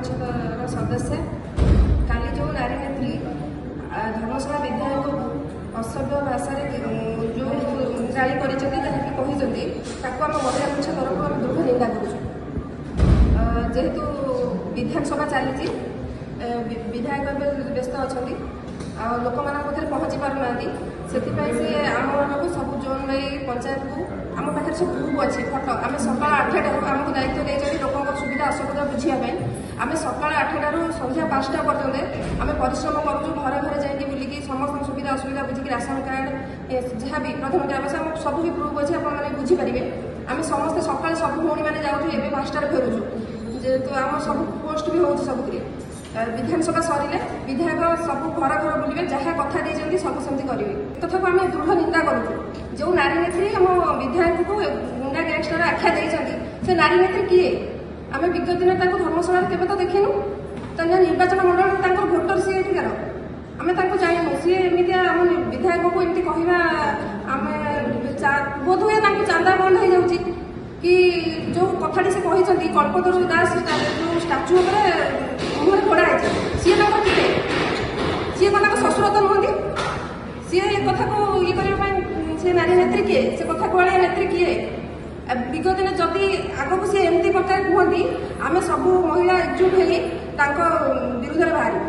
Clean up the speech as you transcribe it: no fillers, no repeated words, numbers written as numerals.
ମଞ୍ଚର ସଦସ୍ୟ। କାଲି ଯେଉଁ ନାରୀ ନେତ୍ରୀ ଧର୍ମଶାଳା ବିଧାୟକକୁ ଅସଭ୍ୟ ଭାଷାରେ ଯେଉଁ ଗାଳି କରିଛନ୍ତି, ଯାହାକି କହିଛନ୍ତି, ତାକୁ ଆମ ମହିଳା ମଞ୍ଚ ତରଫରୁ ଆମେ ଦୃଢ଼ ନିନ୍ଦା କରୁଛୁ। ଯେହେତୁ ବିଧାନସଭା ଚାଲିଛି, ବିଧାୟକ ଏବେ ବ୍ୟସ୍ତ ଅଛନ୍ତି ଆଉ ଲୋକମାନଙ୍କ ପାଖରେ ପହଞ୍ଚି ପାରୁନାହାନ୍ତି, ସେଥିପାଇଁ ସେ ଆମମାନଙ୍କୁ ସବୁ ଜୋନ୍ ନେଇ ପଞ୍ଚାୟତକୁ, ଆମ ପାଖରେ ସବୁ ଗ୍ରୁପ୍ ଅଛି, ଫଟୋ। ଆମେ ସକାଳ 8ଟାରୁ, ଆମକୁ ଦାୟିତ୍ୱ ଦେଇଛନ୍ତି ଲୋକଙ୍କ ସୁବିଧା ଅସୁବିଧା ବୁଝିବା ପାଇଁ। ଆମେ ସକାଳ 8ଟାରୁ ସନ୍ଧ୍ୟା 5ଟା ପର୍ଯ୍ୟନ୍ତ ଆମେ ପରିଶ୍ରମ କରୁଛୁ, ଘରେ ଘରେ ଯାଇକି ବୁଲିକି ସମସ୍ତଙ୍କ ସୁବିଧା ଅସୁବିଧା ବୁଝିକି, ରାସନ କାର୍ଡ଼, ଯାହା ବି ପ୍ରଧାନମନ୍ତ୍ରୀ ଆବାସ, ଆମ ସବୁ ବି ପ୍ରୁଫ୍ ଅଛି, ଆପଣମାନେ ବୁଝିପାରିବେ। ଆମେ ସମସ୍ତେ ସକାଳେ ସବୁ ଭଉଣୀମାନେ ଯାଉଛୁ, ଏବେ 5ଟାରେ ଫେରୁଛୁ। ଯେହେତୁ ଆମ ସବୁ ପୋଷ୍ଟ ବି ହେଉଛି ସବୁଥିରେ। ବିଧାନସଭା ସରିଲେ ବିଧାୟକ ସବୁ ଘର ଘର ବୁଲିବେ, ଯାହା କଥା ଦେଇଛନ୍ତି ସବୁ ସେମିତି କରିବେ। କଥାକୁ ଆମେ ଦୃଢ଼ ନିନ୍ଦା କରୁଛୁ। ଯେଉଁ ନାରୀ ନେତ୍ରୀ ଆମ ବିଧାୟକକୁ ଗୁଣ୍ଡା ଗ୍ୟାଙ୍ଗଷ୍ଟର ଆଖ୍ୟା ଦେଇଛନ୍ତି, ସେ ନାରୀ ନେତ୍ରୀ କିଏ? ଆମେ ବିଗତ ଦିନରେ ତାଙ୍କୁ ଧର୍ମଶାଳାରେ କେବେ ତ ଦେଖିନୁ। ତାଙ୍କ ନିର୍ବାଚନ ମଣ୍ଡଳୀରେ ତାଙ୍କର ଭୋଟର ସିଏ ଏଠିକାର, ଆମେ ତାଙ୍କୁ ଜାଣିନୁ। ସିଏ ଏମିତିଆ ଆମ ବିଧାୟକକୁ ଏମିତି କହିବା, ଆମେ ବୋଧହୁଏ ତାଙ୍କୁ ଚାନ୍ଦା ବନ୍ଦ ହେଇଯାଉଛି କି। ଯେଉଁ କଥାଟି ସେ କହିଛନ୍ତି, କଳ୍ପତରୁ ଦାସ ଯେଉଁ ଷ୍ଟାଚୁ ଉପରେ ମୁହଁରେ ଘୋଡ଼ା ହେଇଛି, ସିଏ ତାଙ୍କର କିଏ? ସିଏ କଣ ତାଙ୍କ ଶ୍ୱଶୁର ତ ନୁହନ୍ତି। ସିଏ ଏ କଥାକୁ ଇଏ କରିବା ପାଇଁ ସେ ନାରୀ ନେତ୍ରୀ କିଏ? ସେ କଥା କୁହାଳିଆ ନେତ୍ରୀ କିଏ? ବିଗତ ଦିନ ଯଦି ଆଗକୁ ସିଏ ଏମିତି ପ୍ରକାର କୁହନ୍ତି, ଆମେ ସବୁ ମହିଳା ଏକଜୁଟ ହେଇ ତାଙ୍କ ବିରୁଦ୍ଧରେ ବାହାରିବୁ।